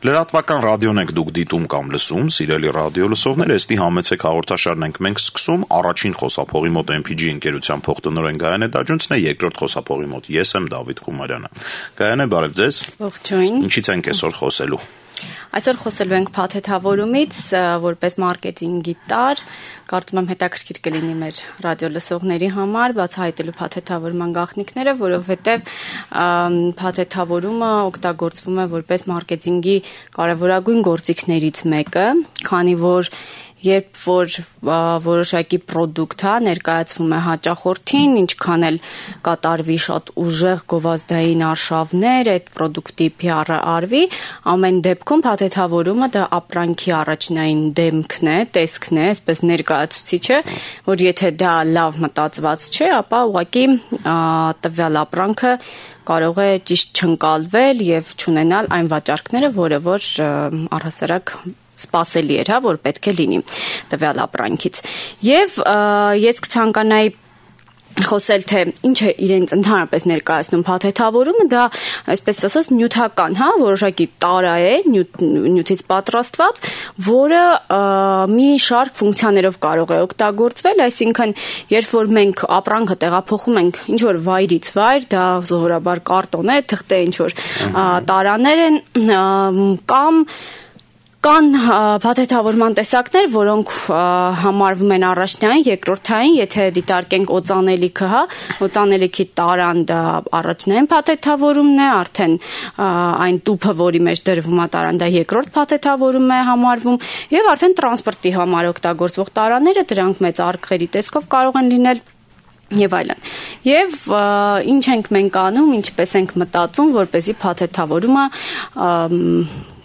Լրատվական ռադիոն եք դուք դիտում կամ լսում, սիրելի ռադիո լսողներ, էստի համեցեք հաղորդաշարն ենք մենք սկսում, առաջին խոսափողի մոտ MPG ընկերության փոխտնօրեն Գայանե Դաջունցն է, երկրորդ խոսափողի մոտ ես եմ Դավիթ Խումարյանը։ Գայանե, բարև ձեզ։ Ողջույն։ Ինչից ենք այսօր խոսելու։ Այսօր խոսելու ենք փաթեթավորումից, որպես մարքեթինգի տարր, կարծում եմ հետաքրքիր կլինի մեր ռադիո լսողների համար բացահայտելու փաթեթավորման գաղտնիքները, որովհետև փաթեթավորումը օգտագործվում է որպես մարքեթինգի կարևորագույն գործիքներից մեկը, քանի որ երբ որ որոշակի պրոդուկտ ներկայացվում է հաճախորդին, ինչքան էլ կատարվի շատ ուժեղ գովազդային արշավներ, այդ պրոդուկտի PR-ը արվի, ամեն դեպքում փաթեթավորումը դա ապրանքի առաջնային դեմքն է, տեսքն է, այսպես ներկայացուցիչը, որ եթե դա լավ մտածված չէ, ապա ուղղակի տվյալ ապրանքը կարող է ճիշտ չընկալվել եւ չունենալ այն վաճառքները, որը որ առհասարակ սպասելի էր, որ պետք է լինի տվյալ ապրանքից։ Եվ ես կցանկանայի խոսել, թե ինչ է իրենց ընդհանրապես ներկայացնում փաթեթավորումը, դա այսպես ասած նյութական, որոշակի տարա է, նյութից պատրաստված, որը մի շարք ֆունկցիաներով կարող է օգտագործվել, այսինքն երբ որ մենք ապրանքը տեղափոխում ենք ինչ որ վայրից վայր, դա սովորաբար կարտոն է, թղթե ինչ որ տարաներ են կամ կան փաթեթավորման տեսակներ, որոնք համարվում են առաջնային, երկրորդային, եթե դիտարկենք օծանելիքը, օծանելիքի տարան դա առաջնային փաթեթավորումն է, արդեն այն տուփը, որի մեջ դրվում է տարան, դա երկրորդ փաթեթավորում է համարվում, եւ արդեն տրանսպորտի համար օգտագործվող տարաները, դրանք մեծ արկղերի տեսքով կարող են լինել եւ այլն։ Եվ ինչ ենք մենք անում, ինչպես ենք մտածում, որպեսզի փաթեթավորումը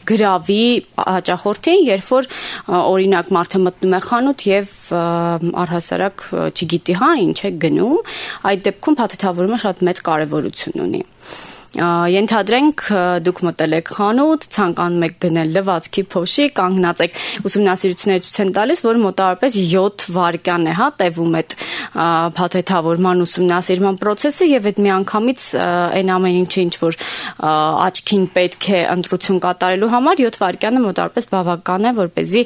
գրավի հաճախորդին, երբ որ օրինակ մարդը մտնում է խանութ եւ առհասարակ չգիտի ինչ է գնում, այդ դեպքում փաթեթավորումը շատ մեծ կարեւորություն ունի։ Ենթադրենք դուք մտել եք խանութ, ցանկանում եք գնել լվացքի փոշի, կանգնած եք, ուսումնասիրությունները ցույց են տալիս, որ մոտավորապես 7 վայրկյան է տևում այդ փաթեթավորման ուսումնասիրման process-ը եւ այդ միանգամից այն ամեն ինչը ինչ որ աչքին պետք է ընտրություն կատարելու համար 7 վայրկյանը մոտավորապես բավական է, որպեսզի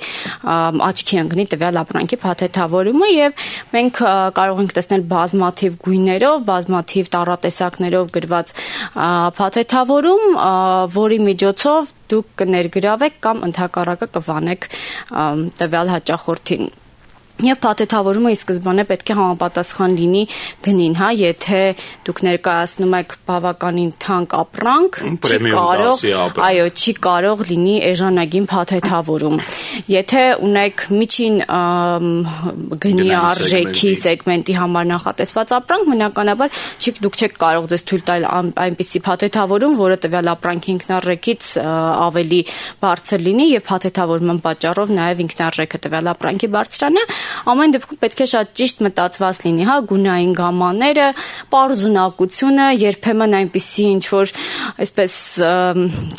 աչքի ընկնի տվյալ ապրանքի փաթեթավորումը եւ մենք կարող ենք տեսնել բազմաթիվ գույներով, բազմաթիվ տառատեսակներով գրված փաթեթավորում, որի միջոցով դուք կներգրավեք կամ ընդհակառակը կվանեք տվյալ հաճախորդին։ Եվ փաթեթավորումը ի սկզբանե պետք է համապատասխան լինի գնին, եթե դուք ներկայացնում եք բավականին թանկ ապրանք, չի կարող լինի էժանագին փաթեթավորում։ Եթե ունեք միջին գնի արժեքի սեգմենտի համար նախատեսված ապրանք, բնականաբար դուք չեք կարող ձեզ թույլ տալ այնպիսի փաթեթավորում, որը տվյալ ապրանքի ինքնարժեքից ավելի բարձր լինի եւ փաթեթավորման պատճառով նաեւ ինքնարժեքը տվյալ ապրանքի բարձրանա։ Ամեն դեպքում պետք է շատ ճիշտ մտածված լինի, գունային գամմաները, պարզունակությունը, երբեմն այնպիսի ինչ որ այսպես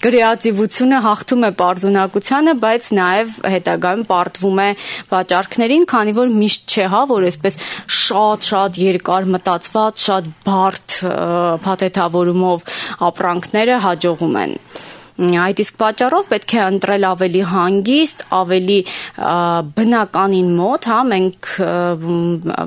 կրեատիվությունը հաղթում է պարզունակությանը, բայց նաև հետագայում պարտվում է վաճառքներին, քանի որ միշտ չէ, որ այսպես շատ երկար մտածված, շատ բարդ փաթեթավորումով ապրանքները հաջողում են։ Այդ իսկ պատճառով պետք է ընտրել ավելի հանգիստ, ավելի բնականին մոտ, մենք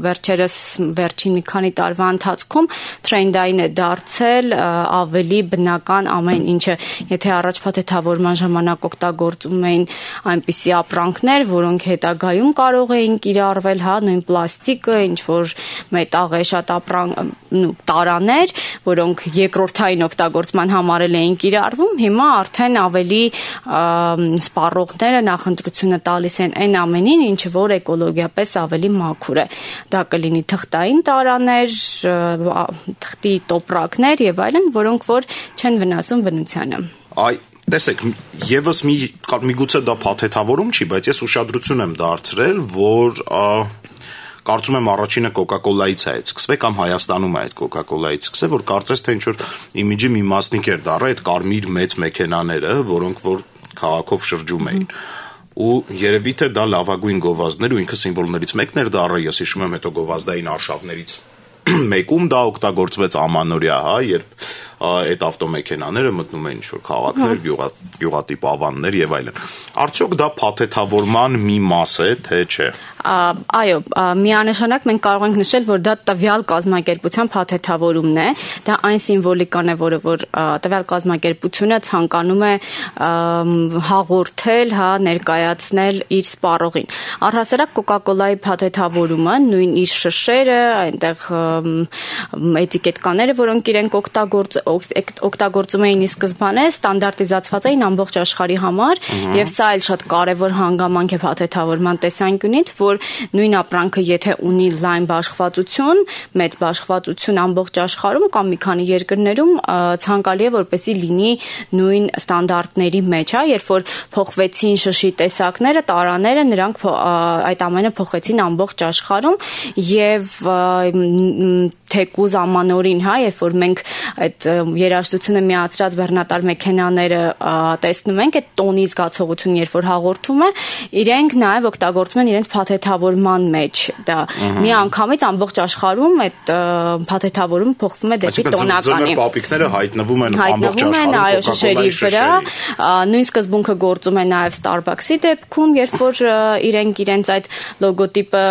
վերջերս վերջին մի քանի տարվա ընթացքում թրենդային է դարձել ավելի բնական ամեն ինչը, եթե առաջ փաթեթավորման ժամանակ օգտագործում էին այնպիսի ապրանքներ, որոնք հետագայում կարող էին կիրառվել, նույն պլաստիկը, ինչ որ մետաղ է, շատ տարաներ, որոնք երկրորդային օգտագործման համար էին կիրառվում, հիմա արդեն ավելի սպառողները նախընտրությունը տալիս են այն ամենին, ինչը որ էկոլոգիապես ավելի մաքուր է։ Դա կլինի թղթային տարաներ, թղթի տոպրակներ եւ այլն, որոնք որ չեն վնասում բնությանը։ Տեսեք, եւս միգուցե դա փաթեթավորում չի, բայց ես ուշադրություն եմ դարձրել, որ կարծում եմ առաջինը Coca-Cola-ից է սկսվել կամ Հայաստանում է այդ Coca-Cola-ից սկսել, որ կարծես թե ինչ որ իմիջի մի մասնիկ էր դառը այդ կարմիր մեծ մեքենաները, որոնք որ քաղաքով շրջում էին։ Ու երևի թե դա լավագույն գովազդներ ու ինքը սիմվոլներից մեկն էր դառը, ես հիշում եմ հետո գովազդային արշավներից մեկում դա օգտագործվեց ամանորյա, երբ այդ ավտոմեքենաները մտնում են ինչ-որ քաղաքներ, գյուղատիպ ավաններ եւ այլն։ Արդյոք դա փաթեթավորման մի մաս է, թե չէ։ Այո, միանշանակ մենք կարող ենք նշել, որ դա տվյալ կազմակերպության փաթեթավորումն է, դա այն սիմվոլիկան է, որը որ տվյալ կազմակերպությունը ցանկանում է հաղորդել, ներկայացնել իր սպառողին։ Առհասարակ Coca-Cola-ի փաթեթավորումը, նույն իր շշերը, այնտեղ էտիկետկաները, որոնք իրենք օգտագործում էին ի սկզբանե, ստանդարտիզացված էին ամբողջ աշխարհի համար, եւ սա էլ շատ կարեւոր հանգամանք է փաթեթավորման տեսանկյունից, որ նույն ապրանքը եթե ունի լայն բաշխվածություն, մեծ բաշխվածություն ամբողջ աշխարհում կամ մի քանի երկրներում ցանկալի է որպեսզի լինի նույն ստանդարտների մեջ, երբ որ փոխվեցին շշի տեսակները, տարաները, նրանք այդ ամենը փոխեցին ամբողջ աշխարհում եւ թեկուզ ամանորին, երբ որ մենք այդ երաժշտությունը միացրած բեռնատար մեքենաները տեսնում ենք, այդ տոնի զգացողություն, երբ որ հաղորդում է, իրենք նաև օգտագործում են իրենց փաթեթավորման մեջ։ Դա մի անգամից ամբողջ աշխարհում այդ փաթեթավորումը փոխվում է դեպի տոնականի։ Այսինքն պապիկները հայտնվում են ամբողջ աշխարհում այո, շշերի վրա, նույն սկզբունքը գործում է նաև Starbucks-ի դեպքում, երբ որ իրենք իրենց այդ լոգոտիպը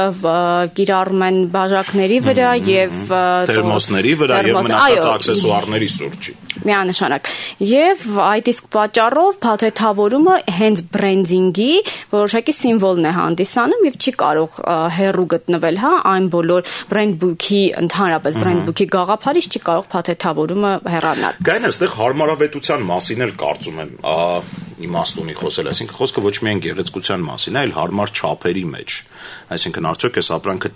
կիրառում են բաժակների վրա եւ թերմոսների վրա եւ մնացած աքսեսուարների շուրջի։ Միանշանակ։ Եվ այդ իսկ պատճառով փաթեթավորումը հենց բրենդինգի որոշակի սիմվոլն է հանդիսանում եւ չի կարող հեռու գտնվել, այն բոլոր բրենդ բուքի, ընդհանրապես բրենդ բուքի գաղափարից չի կարող փաթեթավորումը հեռանալ։ Գային այստեղ հարմարավետության մասին էլ կարծում եմ իմաստունի խոսել, այսինքն խոսքը ոչ միայն գեղեցկության մասին է, այլ հարմար չափերի մեջ։ Այսինքն արդյոք այս ապրանքը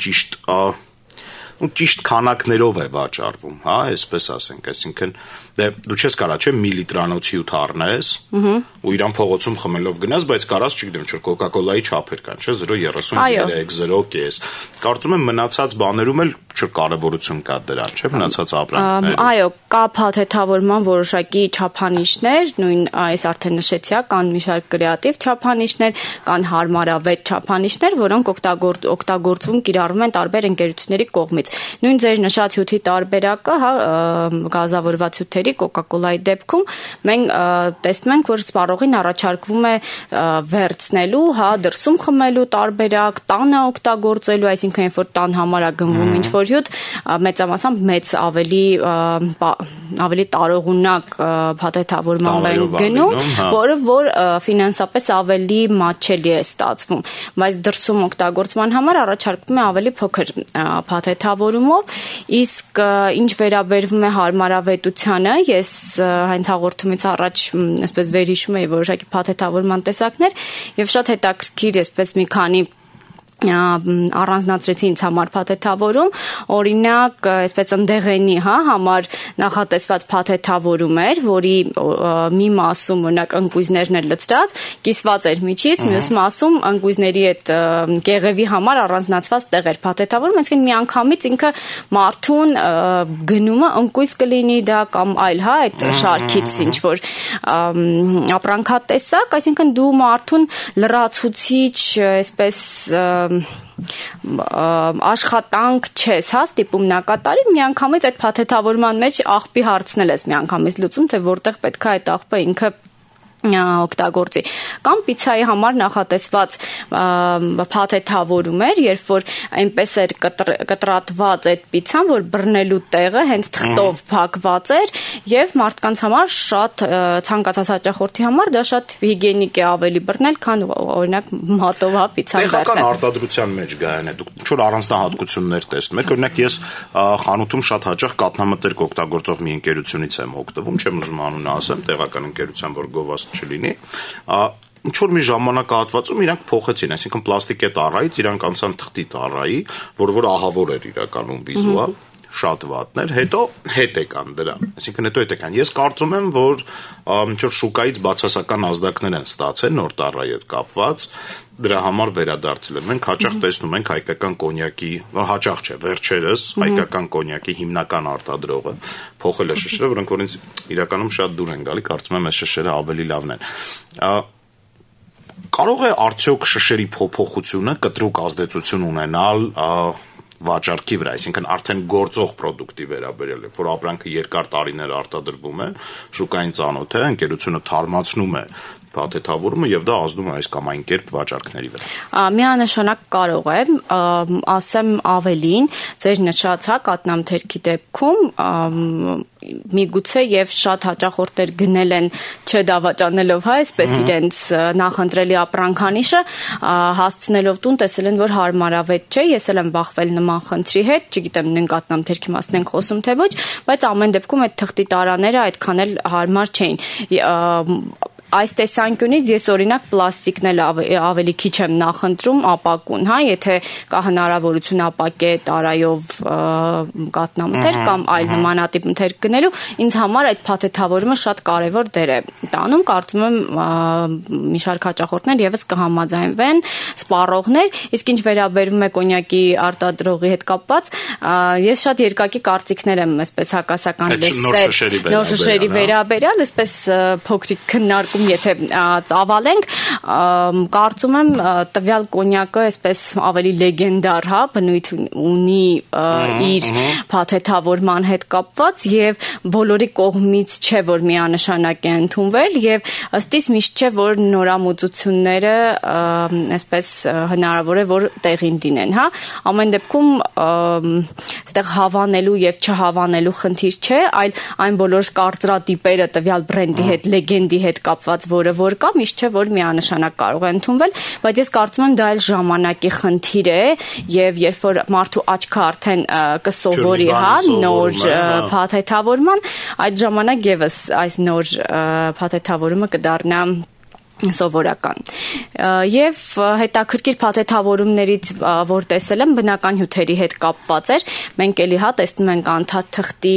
ճիշտ քանակներով է վաճառվում, այսպես ասենք, այսինքն դու չես կարա չէ միլիտրանոց հյութ առնես ու իրան փողոցում խմելով գնաս, բայց կարաս չգիտեմ, չէ Coca-Cola-ի չափեր կան, չէ 0.33, 0.5։ Կարծում եմ մնացած բաներում էլ կարևորություն կա դրան, չէ մնացած ապրանքները։ Այո, կա փաթեթավորման որոշակի չափանիշներ, նույն այս արդեն նշեցի, կան մի շարք կրեատիվ չափանիշներ, կան հարմարավետ չափանիշներ, որոնք օգտագործվում կիրառվում են տարբեր ընկերությունների կողմից։ Նույն ձեր նշած հյութի տարբերակը, գազավորված հյութերի Coca-Cola-ի դեպքում մենք տեսնում ենք, որ սպառողին առաջարկվում է վերցնելու, դրսում խմելու տարբերակ, տանը օգտագործելու, այսինքն երբ որ տան համար է գնվում ինչ-որ հյութ, մեծամասամբ մեծ ավելի տարողունակ փաթեթավորման են գնում, որը որ ֆինանսապես ավելի մատչելի է ստացվում, բայց դրսում օգտագործման համար առաջարկվում է ավելի փոքր փաթեթավորումով, իսկ ինչ վերաբերվում է հարմարավետությանը, ես հենց հաղորդումից առաջ այսպես վերհիշում էի որոշակի փաթեթավորման տեսակներ եւ շատ հետաքրքիր այսպես մի քանի առանձնացրեցի ինձ համար փաթեթավորում, օրինակ, այսպես ընդեղենի, համար նախատեսված փաթեթավորում էր, որի մի մասում օրինակ ընկույզներն էր լցրած, կիսված էր միջից, մյուս մասում ընկույզների այդ կեղևի համար առանձնացված տեղ էր փաթեթավորում, այսինքն միանգամից ինքը մարդուն գնումը ընկույզ կլինի դա կամ այլ, այդ շարքից ինչ որ ապրանքատեսակ, այսինքն դու մարդուն լրացուցիչ, այսպես աշխատանք չես, ստիպում նա կատարի, միանգամից այդ փաթեթավորման մեջ աղբի հարցնել ես միանգամից լուծում, թե որտեղ պետք է այդ աղբը ինքը օգտագործի կամ պիցայի համար նախատեսված փաթեթավորում էր, երբ որ այնպես էր կտրատված այդ պիցան, որ բռնելու տեղը հենց թղթով փակված էր եւ մարդկանց համար շատ ցանկացած հաճախորդի համար դա շատ հիգիենիկ է ավելի բռնել, քան օրինակ մատով պիցան վերցնել։ Տեղական արտադրության մեջ գայանը դուք ինչ-որ առանձնահատկություններ տեսնում եք, օրինակ ես խանութում շատ հաճախ կաթնամթերք օգտագործող մի ընկերությունից եմ օգտվում, չեմ ուզում անունը ասեմ, տեղական ընկերության, որ գովաս չլինի, ինչ-որ մի ժամանակահատվածում իրանք փոխեցին, այսինքն պլաստիկե տառայից իրանք անցան թղթի տառայի, որ ահավոր էր իրականում վիզուալ, շատ վատն էր, հետո հետ եկան դրան, այսինքն հետո հետ եկան։ Ես կարծում եմ, որ ինչ-որ շուկայից բացասական ազդակներ են ստացել նոր տառայի հետ կապված, դրա համար վերադարձել են։ Մենք հաճախ տեսնում ենք հայկական կոնյակի, հաճախ չէ, վերջերս հայկական կոնյակի հիմնական արտադրողը փոխել է շշերը, որոնք որից իրականում շատ դուր են գալի, կարծում եմ այս շշերը ավելի լավն են։ Կարող է արդյոք շշերի փոփոխությունը կտրուկ ազդեցություն ունենալ վաճառքի վրա, այսինքն արդեն գործող product-ի վերաբերյալ է, որ ապրանքը երկար տարիներ արտադրվում է, շուկային ծանոթ է, ընկերությունը թարմացնում է փաթեթավորումը եւ դա ազդում է այս կամ այն կերպ վաճառքների վրա։ Միանշանակ կարող է, ասեմ ավելին, ձեր նշած կատնամթերքի դեպքում միգուցե եւ շատ հաճախորդներ գնել են չդավաճանելով, այսպես իրենց նախընտրելի ապրանքանիշը հասցնելով տուն, տեսել են, որ հարմարավետ չէ, ես էլ եմ բախվել նման խնդրի հետ, չգիտեմ նույն կատնամթերքի մասն ենք խոսում թե ոչ, բայց ամեն դեպքում այդ թղթի տարաները այդքան էլ հարմար չէին։ Այս տեսանկյունից ես օրինակ պլաստիկն էլ ավելի քիչ եմ նախընտրում ապակուն, եթե կա հնարավորություն ապակե տարայով կատնամթերք կամ այլ նմանատիպ մթերք գնելու, ինձ համար այդ փաթեթավորումը շատ կարևոր դեր է տանում, կարծում եմ մի շարք հաճախորդներ եւս կհամաձայնվեն, սպառողներ, իսկ ինչ վերաբերում է կոնյակի արտադրողի հետ կապված, ես շատ երկակի կարծիքներ եմ այսպես հակասական լսել, նոր շշերի վերաբերյալ, այսպես փոքրիկ քննարկում եթե ծավալենք, կարծում եմ տվյալ կոնյակը այսպես ավելի լեգենդար, բնույթ ունի իր փաթեթավորման հետ կապված եւ բոլորի կողմից չէ, որ միանշանակ է ընդունվել եւ ըստ իս միշտ չէ, որ նորամուծությունները այսպես հնարավոր է, որ տեղին դինեն, ամեն դեպքում այստեղ հավանելու եւ չհավանելու խնդիր չէ, այլ այն բոլոր կարծրատիպերը տվյալ բրենդի հետ, լեգենդի հետ կապված որը որ կա, միշտ չէ, որ միանշանակ կարող է ընդունվել, բայց ես կարծում եմ դա էլ ժամանակի խնդիր է եւ երբ որ մարդու աչքը արդեն կսովորի, նոր փաթեթավորման, այդ ժամանակ եւս այս նոր փաթեթավորումը կդառնա սովորական։ Եւ հետաքրքիր փաթեթավորումներից, որ տեսել եմ, բնական հյութերի հետ կապված էր։ Մենք էլի տեսնում ենք անդադ թղթի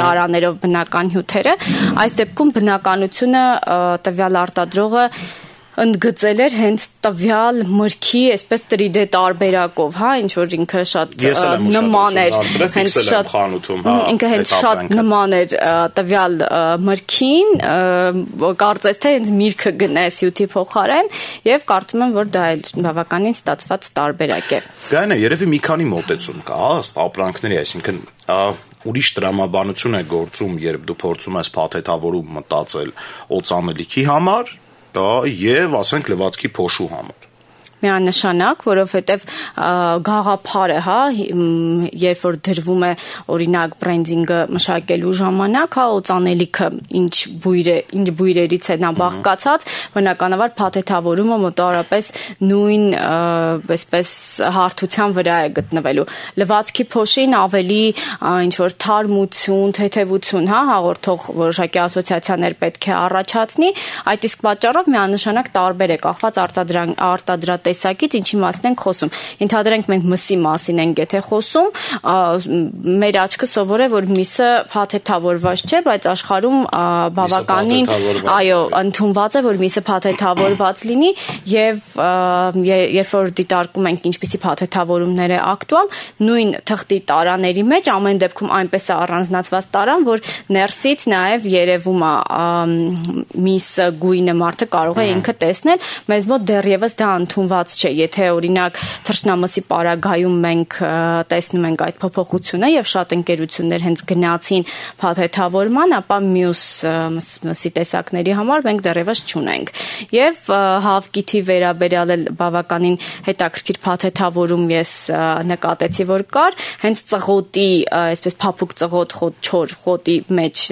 տարաներով բնական հյութերը։ Այս դեպքում բնականությունը տվյալ արտադրողը ընդգծել էր հենց տվյալ մրգի այսպես 3D տարբերակով, ինչ որ ինքը շատ նման էր, հենց շատ խանութում, ինքը հենց շատ նման էր տվյալ մրգին, կարծես թե հենց միրգը գնես հյութի փոխարեն եւ կարծում եմ, որ դա էլ բավականին ստացված տարբերակ է։ Գայնը երևի մի քանի մոտեցում կա, ըստ ապրանքների, այսինքն ուրիշ տրամաբանություն է գործում, երբ դու փորձում ես փաթեթավորում մտածել օծանելիքի համար եւ ասենք լվացքի փոշու համար։ Միանշանակ, որովհետև գաղափարը, երբ որ դրվում է օրինակ բրենդինգը մշակելու ժամանակ, օծանելիքը ինչ բույրերից է նա բաղկացած, բնականաբար փաթեթավորումը մոտավորապես նույն այսպես հարթության վրա է գտնվելու։ Լվացքի փոշին ավելի ինչ որ թարմություն, թեթևություն, հաղորդող որոշակի ասոցիացիաներ պետք է առաջացնի, այդ իսկ պատճառով միանշանակ տարբեր է կախված արտադրատեսակից ինչի մասն ենք խոսում։ Ենթադրենք մենք մսի մասին ենք եթե խոսում, մեր աչքը սովոր է, որ միսը փաթեթավորված չէ, բայց աշխարհում բավականին ընդունված է, որ միսը փաթեթավորված լինի եւ երբ որ դիտարկում ենք ինչպիսի փաթեթավորումներ է ակտուալ, նույն թղթի տարաների մեջ ամեն դեպքում այնպես է առանձնացված տարան, որ ներսից նաեւ երևում է միսը գույնը մարդը կարող է ինքը տեսնել, մեզ մոտ դեռևս դա ընդունված չէ։ Եթե օրինակ թռչնամսի պարագայում մենք տեսնում ենք այդ փոփոխությունը եւ շատ ընկերություններ հենց գնացին փաթեթավորման, ապա մյուս մսի տեսակների համար մենք դեռևս չունենք։ Եւ հավկիթի վերաբերյալ էլ բավականին հետաքրքիր փաթեթավորում ես նկատեցի, որ կար հենց ծղոտի, այսպես փափուկ ծղոտ, չոր խոտի մեջ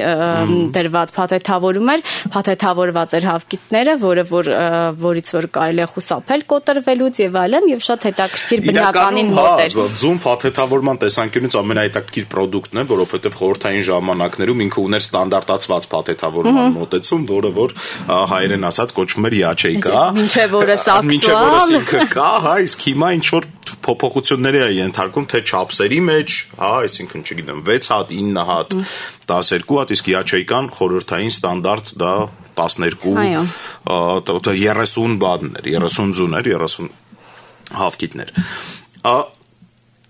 դրված փաթեթավորում էր, փաթեթավորված էր հավկիթները, որից որ կարելի է խուսափել կոտրվելուց եւ այլն եւ շատ հետաքրքիր բնականին մոտ էր։ Ձուն փաթեթավորման տեսանկյունից ամենահետաքրքիր product-ն է, որովհետեւ խորհրդային ժամանակներում ինքը ուներ ստանդարտացված փաթեթավորման մոտեցում, որը որ հայերեն ասած կոչվում էր յաչեյկա։ Մինչեւ օրս ակտուալ ինքը կա, իսկ հիմա ինչ որ փոփոխությունների է ենթարկում թե չափսերի մեջ, այսինքն չգիտեմ 6 հատ, 9 հատ, 12 հատ, իսկ յաչեյկան խորհրդային ստանդարտ դա 12 30 բաններ, 30 ձուներ, 30 հավկիթներ։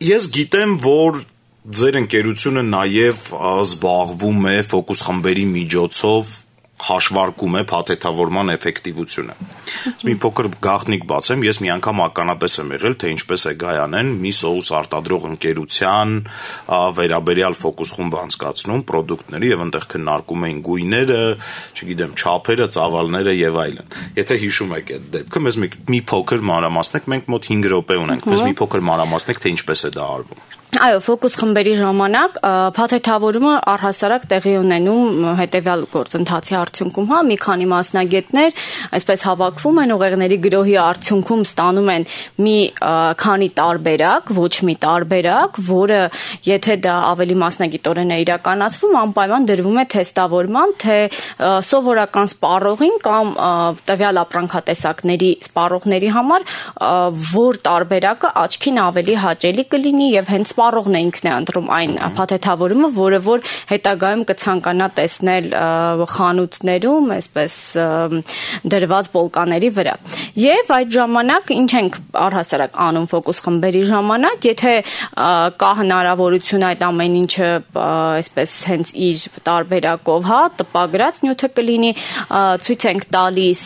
Ես գիտեմ, որ ձեր ընկերությունը նաև զբաղվում է ֆոկուս խմբերի միջոցով հաշվարկում է փաթեթավորման էֆեկտիվությունը։ Մի փոքր գաղտնիք բացեմ, ես մի անգամ ականատես եմ եղել, թե ինչպես է Գայանեն մի սոուս արտադրող ընկերության վերաբերյալ ֆոկուս խումբ անցկացնում պրոդուկտների եւ այնտեղ քննարկում էին գույները, չգիտեմ, չափերը, ծավալները եւ այլն։ Եթե հիշում եք այդ դեպքը, մեզ մի փոքր մանրամասնեք, մենք մոտ 5 րոպե ունենք, մեզ մի փոքր մանրամասնեք, թե ինչպես է դա արվում։ Այո, ֆոկուս խմբերի ժամանակ փաթեթավորումը առհասարակ տեղի ունենում հետևյալ գործընթացի արդյունքում, հա, մի քանի մասնագետներ այսպես հավաքվում են ուղեղների գրոհի արդյունքում ստանում են մի քանի տարբերակ, ոչ մի տարբերակ, որը եթե դա ավելի մասնագիտորեն է իրականացվում, անպայման դրվում է թեստավորման, թե սովորական սպառողին կամ տվյալ ապրանքատեսակների սպառողների համար որ տարբերակը աչքին ավելի հաճելի կլինի եւ հենց սպառողն է ինքն է ընտրում այն փաթեթավորումը, որը որ հետագայում կցանկանա տեսնել խանութներում, այսպես դրված պոլկաների վրա։ Եվ այդ ժամանակ ինչ ենք առհասարակ անում ֆոկուս խմբերի ժամանակ, եթե կա հնարավորություն այդ ամեն ինչը այսպես հենց իր տարբերակով, հա, տպագրած նյութը կլինի, ցույց ենք տալիս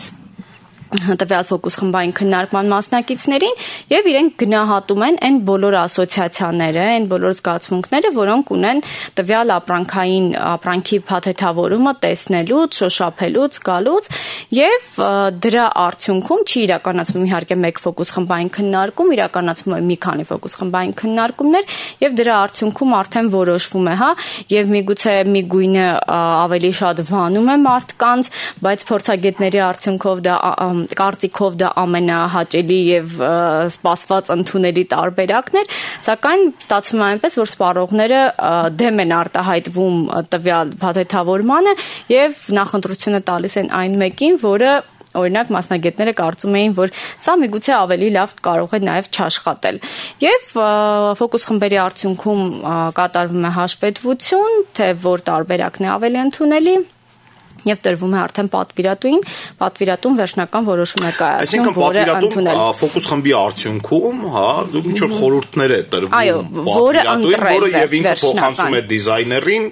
տվյալ ֆոկուս խմբային քննարկման մասնակիցներին եւ իրենք գնահատում են այն բոլոր ասոցիացիաները, այն բոլոր զգացմունքները, որոնք ունեն տվյալ ապրանքի փաթեթավորումը տեսնելուց, շոշափելուց, գալուց եւ դրա արդյունքում չի իրականացվում իհարկե մեկ ֆոկուս խմբային քննարկում, իրականացվում է մի քանի ֆոկուս խմբային քննարկումներ եւ դրա արդյունքում արդեն որոշվում է, հա, եւ միգուցե մի գույնը ավելի շատ վանում է մարդկանց, բայց փորձագետների արդյունքով դա կարծիքով դա ամենահաճելի եւ սպասված ընդունելի տարբերակն էր, սակայն ստացվում է այնպես, որ սպառողները դեմ են արտահայտվում տվյալ փաթեթավորմանը եւ նախընտրությունը տալիս են այն մեկին, որը օրինակ մասնագետները կարծում էին, որ սա միգուցե ավելի լավ կարող է նաև չաշխատել։ Եվ ֆոկուս խմբերի արդյունքում կատարվում է հաշվետվություն, թե որ տարբերակն է ավելի ընդունելի եւ տրվում է արդեն պատվիրատուն վերջնական որոշում է կայացնում, որը ընդունել։ Ֆոկուս խմբի արդյունքում, հա, ինչ որ խորհուրդներ է տրվում պատվիրատուին, որը եւ ինքը փոխանցում է դիզայներին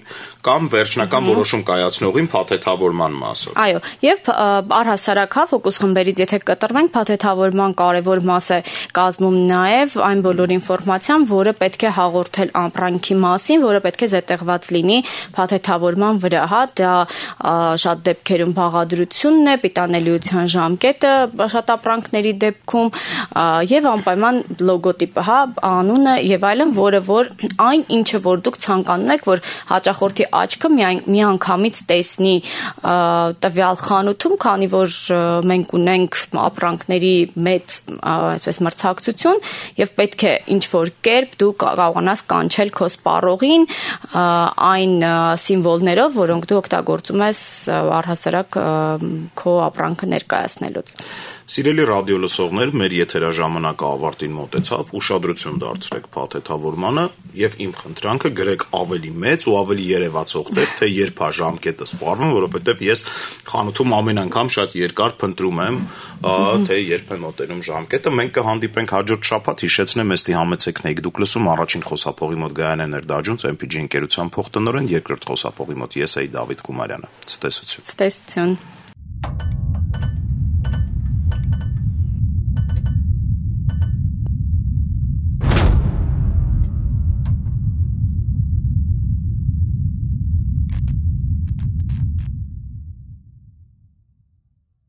կամ վերջնական որոշում կայացնողին փաթեթավորման մասով։ Այո, եւ առհասարակ հա ֆոկուս խմբերից եթե կտրվենք, փաթեթավորման կարևոր մաս է կազմում նաեւ այն բոլոր ինֆորմացիան, որը պետք է հաղորդել ապրանքի մասին, որը պետք է զետեղված լինի փաթեթավորման վրա, հա, դա շատ դեպքերում բաղադրությունն է, պիտանելիության ժամկետը շատ ապրանքների դեպքում եւ անպայման լոգոտիպը, հա, անունը եւ այլն, որը որ այն ինչը որ դուք ցանկանում եք, որ հաճախորդի աչքը միանգամից տեսնի տվյալ խանութում, քանի որ մենք ունենք ապրանքների մեծ այսպես մրցակցություն եւ պետք է ինչ որ կերպ դու կարողանաս կանչել քո սպառողին այն սիմվոլներով, որոնք դու օգտագործում ես առհասարակ քո ապրանքը ներկայացնելուց։ Սիրելի ռադիոլսողներ, մեր եթերաժամանակը ավարտին մոտեցավ, ուշադրություն դարձրեք փաթեթավորմանը եւ իմ խնդրանքը գրեք ավելի մեծ ու ավելի երևացող տեղ, թե երբ է ժամկետը սպառվում, որովհետեւ ես խանութում ամեն անգամ շատ երկար փնտրում եմ, թե երբ է մոտենում ժամկետը։ Մենք կհանդիպենք հաջորդ շաբաթ, հիշեցնեմ, ըստի համեցեքնեիք դուք լսում առաջին խոսափողի մոտ Գայանեն Էրդաջունց, MPG ընկերության փոխտնօրեն, երկրորդ խոսափողի մոտ ես էի Դավիթ Գումարյանը։ Ցտեսություն։ Ցտեսություն։